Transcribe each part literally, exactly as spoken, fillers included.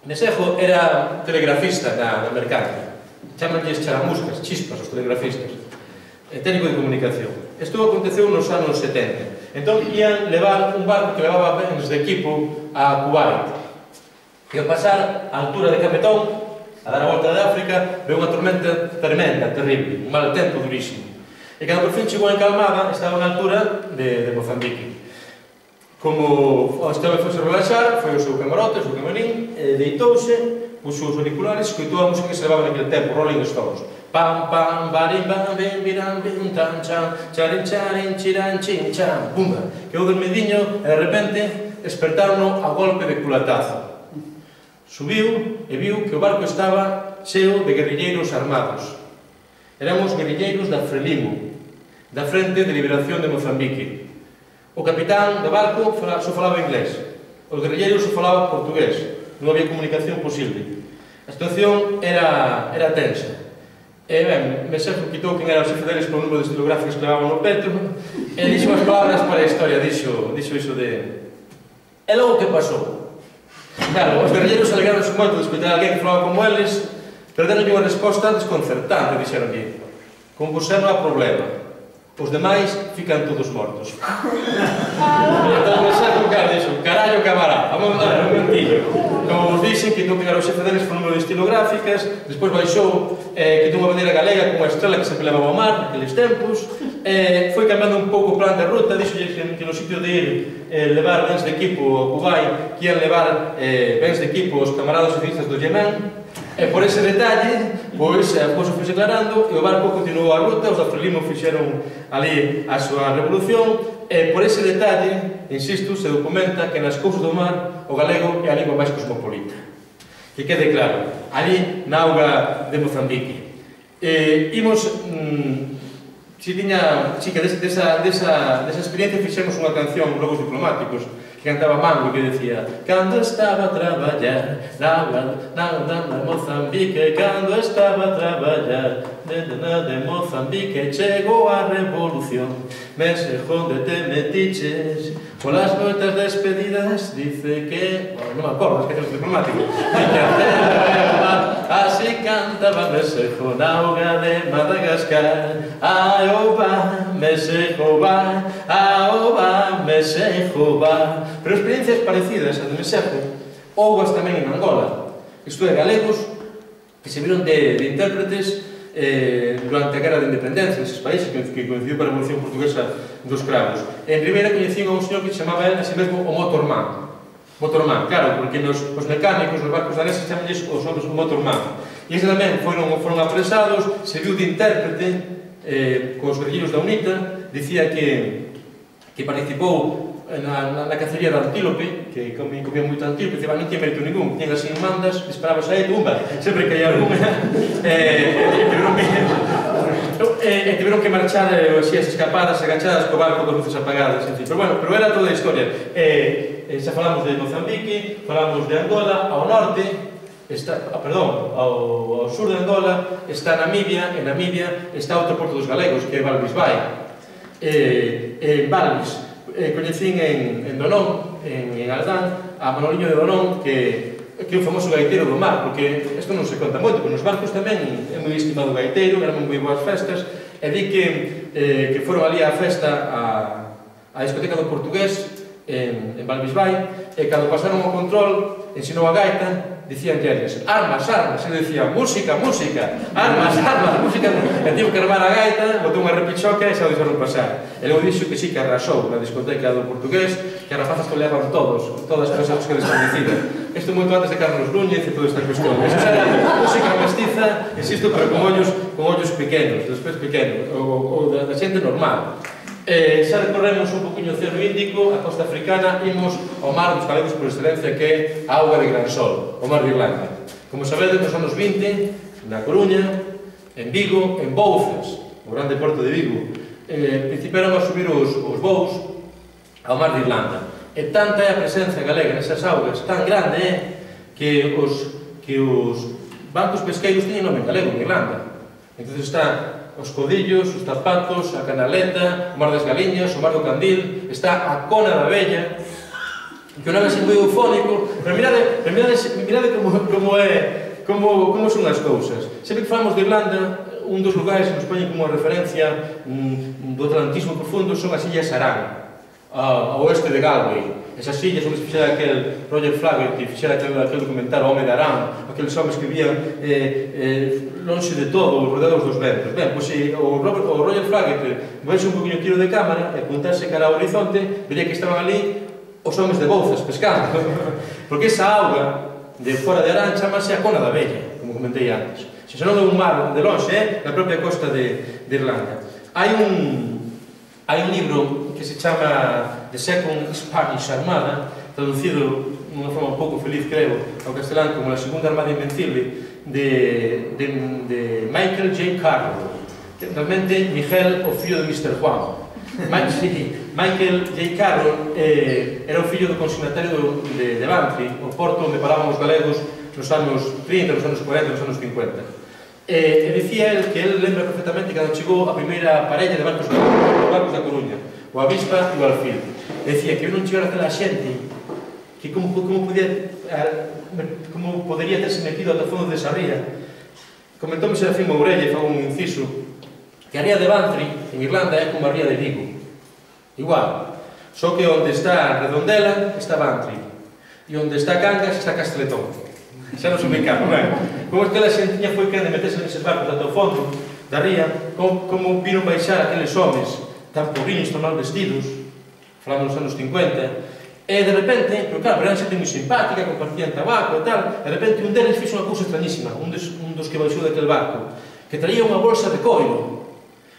Mesejo era telegrafista na mercante. Chamanlles charamuscas, chispas, os telegrafistas. Técnico de comunicación. Isto aconteceu nos anos setenta. Entón, ian levar un barco que levaba bens de equipo a Kuwait. E ao pasar a altura de Capetón, a dar a volta de África, veu unha tormenta tremenda, terrible, un mal tempo durísimo. E cando por fin chegou en calmada, estaba na altura de, de Mozambique. Como este home foi se relaxar, foi ao seu camarote, ao seu camarín, e deitouse, puxo os auriculares, escoitou a música que se levaba naquele tempo, Rolling Stones. Pam, pam, barim, bam, bim, biram, bim, tam, cham, charin, charin, chiran, chin, cham, pumba. Quedou dormidiño e de repente despertaron a golpe de culatazo. Subiu e viu que o barco estaba cheo de guerrilleiros armados. Éramos guerrilleiros da Frelimo, da Frente de Liberación de Mozambique. O capitán do barco só falaba inglés, os guerrilleiros só falaban portugués, non había comunicación posible. A situación era, era tensa. E ben, Mesejo quitou quen era o xefe deles polo número de estilográficos que levaban no peto e dixo as palabras para a historia, dixo, dixo iso de... E logo que pasou? Claro, os guerrilleiros alegraronse moito de escoitar a alguén que falaba como eles, pero deronlle unha resposta desconcertante, dixeronlle. Con vos non há problema. Os demais fican todos mortos. Entón, Mesejo, cara, dixo, carallo camará, vamos a dar un mentillo. Como vos dixen, quitou que era o xefe deles por número de estilográficas, despois baixou, eh, quitou unha bandeira galega con unha estrela que se pelaba ao mar, naqueles tempos, eh, foi cambiando un pouco o plan de ruta, dixo que, que no sitio de ir eh, levar bens de equipo ao Kuwait, que ian levar eh, bens de equipo aos camaradas socialistas do Yemen, e por ese detalle, pois, a cousa foi aclarando e o barco continuou a ruta, os da Frelimo fixeron ali a súa revolución, e por ese detalle, insisto, se documenta que nas cousas do mar o galego é a lingua máis cosmopolita. Que quede claro, ali na auga de Mozambique. Eh, imos, mmm, si tiña, si que desa, desa, desa experiencia fixemos unha canción, Lobos Diplomáticos, que cantaba Mango, que decía cando estaba a traballar na auga de Mozambique, cando estaba a traballar de Mozambique, chegou a revolución, Mesejo, onde te metiches polas noitas despedidas, dice que... non me acordo, es que é un diplomático. Así cantaba Mesejo na auga de Madagascar. Ai, oba, Mesejo va, aoba, Mesejo va. Pero experiencias parecidas a de Mesejo houbo tamén en Angola. Isto é, galegos que se viron de, de intérpretes eh, durante a guerra de independencia neses países que, que coincidiu para a Revolución Portuguesa dos Cravos. En Ribeira coñecían a un señor que se chamaba a si mesmo o Motorman. Motorman, claro, porque nos, os mecánicos, os barcos daneses chamanlles os homens o Motorman. E ese tamén foron, foron apresados, se viu de intérprete eh, cos guerrilleiros da UNITA, dicía que, que participou na, na, na cacería da antílope, que comía, comía moito antílope, dicía, non tinha mérito ningún, tiñan así mandas, disparabas a ele, tumba, sempre que hai algún, eh, e tiveron que, eh, tiveron que marchar eh, así, as escapadas, agachadas co barco con luces apagadas, en fin, pero bueno, pero era toda a historia. Eh, eh, xa falamos de Mozambique, falamos de Angola, ao norte, está, ah, perdón, ao, ao sur de Angola está Namibia, en Namibia está outro porto dos galegos, que é Valvis Bay. Eh, en Valvis, eh, coñecín en, en Donón, en, en Aldán, a Manoliño de Donón, que, que é o famoso gaiteiro do mar, porque isto non se conta moito, pero nos barcos tamén é moi estimado gaiteiro, eran moi boas festas, e di que, eh, que foron ali á festa a, a discoteca do Portugués, en, en Valvis Bay, e cando pasaron o control, ensinou a gaita, dicían eles, armas, armas, e dicía, música, música, armas, armas, música, e tivo que armar a gaita, botou unha repichoca e xa o deixaron pasar. E logo dixo que sí, que arrasou na discoteca do Portugués, que as rapazas toleaban todos, todas as cousas que desconhecidas. Isto moito antes de Carlos Núñez e toda esta cuestión. Eso xa era música mestiza, insisto, pero con ollos, con ollos pequenos, despois pequenos, ou da xente normal. Eh, xa recorremos un poquinho o Océano Índico, a costa africana, imos ao mar dos galegos por excelencia, que é a auga de Gran Sol, o mar de Irlanda. Como sabedes, nos anos vinte, na Coruña, en Vigo, en Bouzas, o grande porto de Vigo, eh, principiaron a subir os, os voos ao mar de Irlanda. E tanta é a presencia galega nesas augas, tan grande é que os, que os bancos pesqueiros teñen nome galego en Irlanda. Entón está os Codillos, os Zapatos, a Canaleta, o Mar das Galiñas, o Mar do Candil, está a Cona da Bella, que o nome é moi eufónico, pero mirade, pero mirade, mirade como, como é, como, como son as cousas. Sempre que falamos de Irlanda, un dos lugares que nos poñen como referencia mm, do atlantismo profundo son as illas Aran, ao oeste de Galway. Esas illas onde se fixera aquel Roger Flaherty, fixera aquel, aquel documental O Home de Aran, aqueles homens que vivían eh, eh, longe de todo, rodeados dos ventos. Ben, pois se o, Robert, o Roger Flaherty moverse un poquinho tiro de cámara e apuntarse cara ao horizonte, vería que estaban ali os homens de Bouzas pescando, porque esa auga de fora de Arán chamase a Cona da Bella, como comentei antes. Se non é un mar de longe, é na propia costa de, de Irlanda. Hai un, hai un libro que se chama The Second Spanish Armada, traducido de unha forma un pouco feliz, creo, ao castelán como a Segunda Armada Invencible, de, de, de Michael J. Carroll, realmente Miguel, o fillo de mister Juan. Michael J. Carroll eh, era o fillo do consignatario de, de Bantry, o porto onde paraban os galegos nos anos trinta, nos anos cuarenta, nos anos cincuenta. Eh, e dicía el que ele lembra perfectamente cando chegou a primeira parella de barcos, os barcos da Coruña, o Avispa e o Alfil. E dicía que eu non chegara aquela xente que como, como, podía, como podería terse metido ata fondo desa ría. Comentóme Serafín Mourelle, fago un inciso, que a ría de Bantry, en Irlanda, é como a ría de Vigo. Igual, só que onde está Redondela está Bantry e onde está Cangas está Casteletón. Xa nos ubicamos, ben? Como aquela xentiña foi que de meterse neses barcos ata o fondo da ría, como, como viron baixar aqueles homes tan pobriños, tan mal vestidos, falamos nos anos cincuenta, e de repente, pero claro, eran xente moi simpática, compartían tabaco e tal, de repente un deles fixo unha cousa extrañísima, un dos, un dos que baixou daquele barco, que traía unha bolsa de coiro,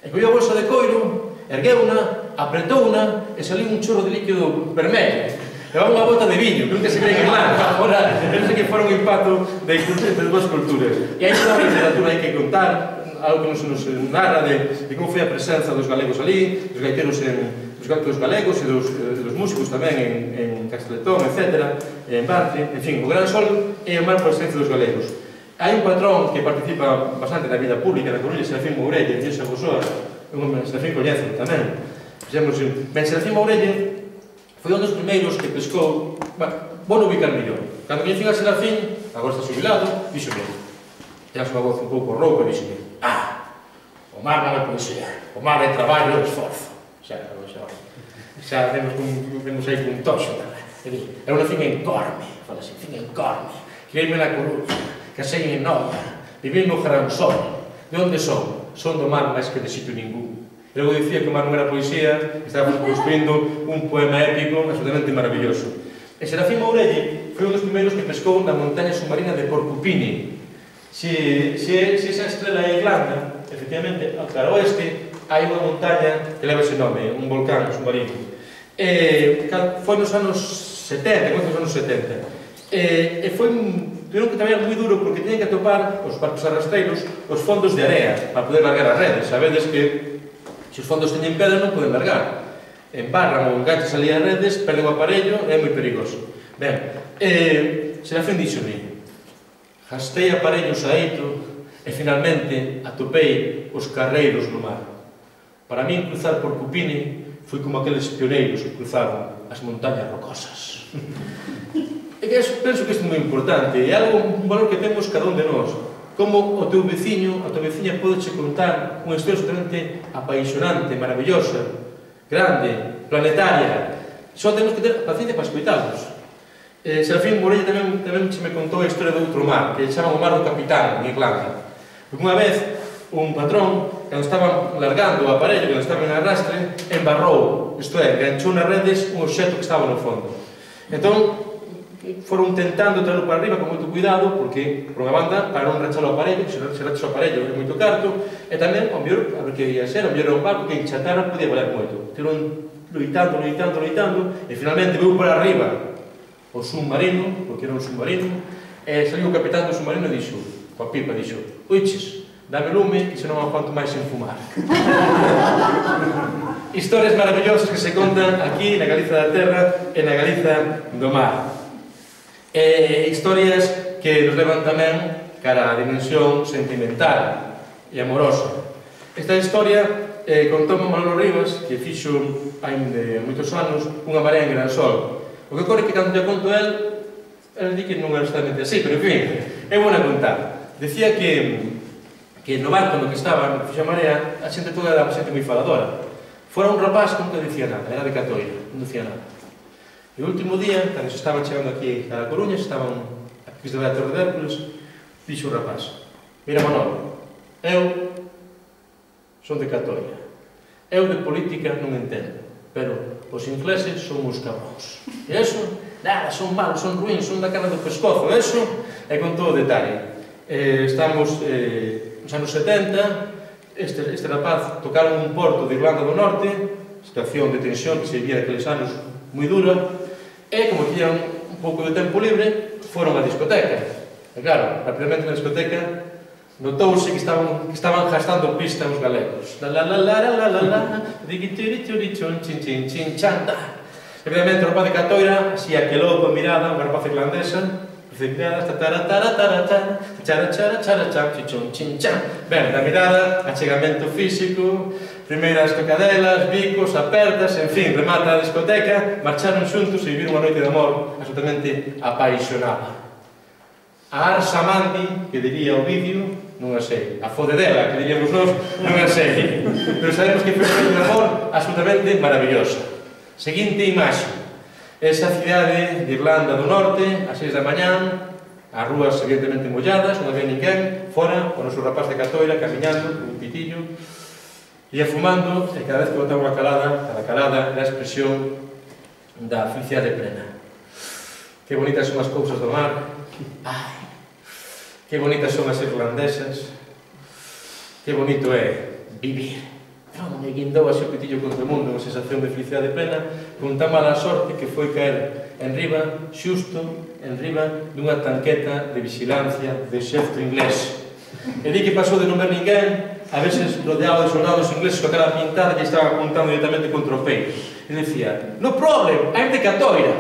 e colleu a bolsa de coiro, ergueu-na, apretou-na e saliu un chorro de líquido vermelho. Levaba unha bota de viño, que nunca se cree en Irlanda. Agora, penso que fora un impacto de, de duas culturas. E aí toda a literatura hai que contar, algo que nos, nos narra de, de como foi a presenza dos galegos ali, dos gaiteros en, dos gaiteros galegos e dos, eh, dos músicos tamén en, en Casteletón, etcétera, en Bantry, en fin, o Gran Sol é o mar por excelencia dos galegos. Hai un patrón que participa bastante na vida pública na Coruña, Serafín Mourelle, en Sabosoa, un Serafín coñece tamén. Fixemos, ben, Serafín Mourelle foi un dos primeiros que pescou, bueno, vou non ubicar millón. Cando coñecín a Serafín, agora está xubilado, dixo ben, tens unha voz un pouco rouca, dixo ben, ah, o mar non é poesía, o mar é traballo e esforzo. Xa, xa, xa vemos, un, vemos aí un toxo tamén. É unha fin en Corme, fala así, fin en Corme, criei-me na Coruña, casei en Noia, viví no Gran Sol. De onde son? Son do mar máis que de sitio ningún. Logo dicía que o mar non era poesía, estábamos construindo un poema épico absolutamente maravilloso. E Serafín Mourelle foi un dos primeiros que pescou na montaña submarina de Porcupine. Se, se, se esa estrela é Irlanda, efectivamente, ao cara oeste, hai unha montaña que leva ese nome, un volcán submarino. E, foi nos anos setenta, nos anos setenta. E, e foi un... Tiveron que traballar moi duro porque tenían que atopar os barcos arrastreiros os fondos de area para poder largar as redes. Sabedes que se os fondos teñen pedra non poden largar. Embarran ou enganchas ali as redes, perden o aparello e é moi perigoso. Ben, eh, Serafín dixo-me, gastei aparellos a eito e finalmente atopei os carreiros no mar. Para min cruzar por Cupine foi como aqueles pioneiros que cruzaron as montañas rocosas. E que penso que isto é moi importante, é algo, un valor que temos cada un de nós. Como o teu veciño, a tua veciña podeche contar unha historia absolutamente apaixonante, maravillosa, grande, planetaria. Só temos que ter paciencia para escoitarlos. Eh, Serafín Mourelle tamén, tamén se me contou a historia de outro mar, que chaman o mar do Capitán, en Irlanda. Porque unha vez, un patrón, cando estaban largando o aparello, cando estaban en arrastre, embarrou, isto é, enganchou nas redes un obxecto que estaba no fondo. Entón, foron tentando traerlo para arriba con moito cuidado, porque, por unha banda, para non rachar o aparello, se rachas o aparello é moito carto, e tamén, ao mellor, a ver que ia ser, ao mellor era un barco que enchatara podía valer moito. Tiron loitando, loitando, loitando, e finalmente veu para arriba o submarino, porque era un submarino, e saliu o capitán do submarino e dixo, coa pipa, dixo, oiches, dame lume, que senón aguanto máis sen fumar. Historias maravillosas que se contan aquí na Galiza da Terra e na Galiza do mar. E historias que nos levan tamén cara á dimensión sentimental e amorosa. Esta historia eh, contou Manolo Rivas, que fixo hai de moitos anos unha marea en Gran Sol. O que ocorre que cando te conto el, el di que non era exactamente así, pero en fin, é bona contar. Decía que que no barco no que estaba, no que fixa marea, a xente toda era xente moi faladora. Fora un rapaz que nunca dicía nada, era de Catoira, non dicía nada. E o último día, cando se estaban chegando aquí a La Coruña, se estaban aquí de a Torre de Hércules, dixo o rapaz: mira, Manolo, eu son de Catoira, eu de política non entendo, pero os ingleses son uns cabróns. E eso, nada, son malos, son ruins, son da cara do pescozo, eso, é con todo o detalle. Eh, estamos eh, nos anos setenta, este, este rapaz tocaron un porto de Irlanda do Norte, situación de tensión que se vivía naqueles anos moi dura, e como tiñan un pouco de tempo libre, foron á discoteca. E claro, rapidamente na discoteca notouse que estaban, que estaban gastando pista os galegos. La la la la la la la, digitiri chun chin chin chin chanta. Evidentemente o rapaz de Catoira, así aquelou con mirada, unha rapaz irlandesa, mirada, tatara tara tara tara, chara chara chara chan chichun chin chan. Ben, da mirada, achegamento físico, primeiras tocadelas, bicos, apertas, en fin, remata a discoteca, marcharon xuntos e viviron unha noite de amor absolutamente apaixonada. A Arsa Mandi, que diría o vídeo, non a sei. A Fodedela, que diríamos nós, non a sei. Pero sabemos que foi unha noite de amor absolutamente maravillosa. Seguinte imaxe. Esa cidade de Irlanda do Norte, ás seis da mañán, as rúas evidentemente molladas, non había ninguén, fora, o noso rapaz de Catoira, camiñando, con un pitillo, ia fumando, e cada vez que botaba unha calada, cada calada era a expresión da felicidade plena. Que bonitas son as cousas do mar, ai, que bonitas son as irlandesas, que bonito é vivir. Non me guindou así o pitillo contra o mundo, unha sensación de felicidade plena, con tan mala sorte que foi caer en riba, xusto en riba dunha tanqueta de vigilancia de exército inglés. E di que pasou de non ver ninguén, a veces rodeado de soldados ingleses coa cara pintada que estaban apuntando directamente contra o peito. E dicía: no problem, I'm de Catoira.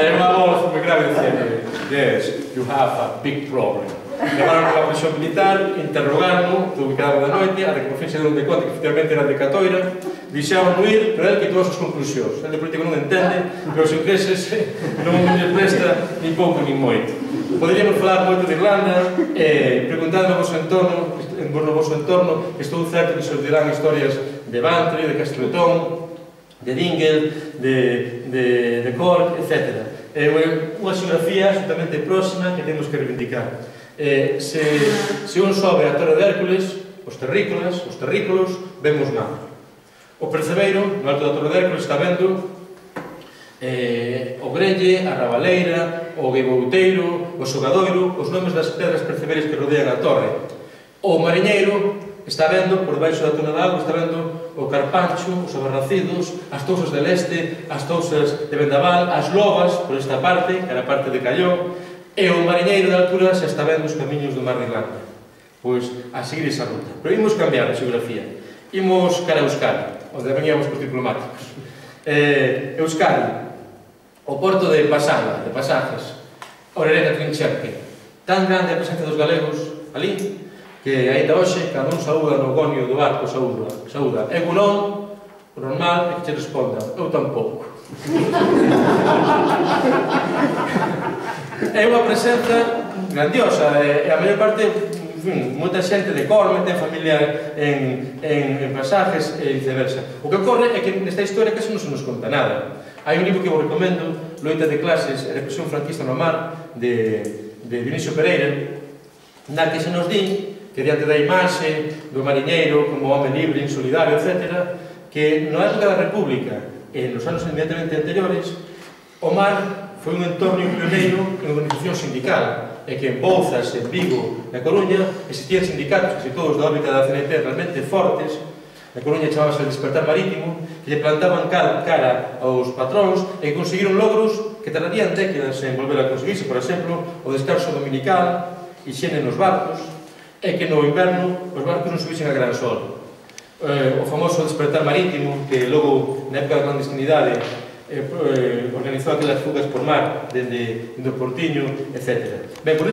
E unha voz moi grave dicía: yes, you have a big problem. Levaron a prisión militar, interrogaron, tuve que dar da noite, ata que por fin se dieron de conta que efectivamente era de Catoira, deixaron ir, pero el que todas as conclusións. El de político non entende, pero os ingleses non lles presta ni pouco ni moito. Poderíamos falar moito de Irlanda, e preguntando no vosso entorno, no vosso entorno, estou certo que se os dirán historias de Bantry, de Castretón, de Dingle, de, de, de Cork, etcétera. É unha xeografía absolutamente próxima que temos que reivindicar. Eh, se, se un sobe a Torre de Hércules, os terrícolas, os terrícolos, vemos nada. O percebeiro, no alto da Torre de Hércules, está vendo eh, o grelle, a rabaleira, o gueibouteiro, o xogadoiro, os nomes das pedras percebeiras que rodean a torre. O mariñeiro está vendo, por debaixo da tona de auga, está vendo o carpancho, os abarracidos, as tousas de leste, as tousas de vendaval, as lobas, por esta parte, que era a parte de Calló, e o mariñeiro de altura xa está vendo os camiños do mar de Irlanda. Pois, a seguir esa ruta. Pero imos cambiar a xeografía. Imos cara a Euskadi, onde veníamos cos diplomáticos. Eh, Euskadi, o porto de Pasanga, de Pasajes, Orereta Trincherque, tan grande a presencia dos galegos ali, que ainda hoxe, cando un saúda no gonio do barco, saúda, saúda, eu non, o normal é que che responda, eu tampouco. É unha presenza grandiosa, e a maior parte, en fin, moita xente de Corme, ten familia en, en, en Pasajes e viceversa. O que ocorre é que nesta historia casi non se nos conta nada. Hai un libro que vos recomendo, Loita de clases e represión franquista no mar, de, de Dionisio Pereira, na que se nos di que diante da imaxe do mariñeiro como home libre, insolidario, etcétera, que na época da República e nos anos inmediatamente anteriores, o mar foi un entorno pioneiro en organización sindical, e que en Bouzas, en Vigo, na Coruña, existían sindicatos, casi todos da órbita da C N T, realmente fortes. Na Coruña chamábase el Despertar Marítimo, que lle plantaban cara aos patróns e que conseguiron logros que tardarían décadas en volver a conseguirse, por exemplo, o descanso dominical, higiene nos barcos, e que no inverno os barcos non subixen a gran sol. O famoso Despertar Marítimo, que logo, na época da clandestinidade, Eh, eh, organizou aquelas fugas por mar dende o Portiño, etcétera. Ben, por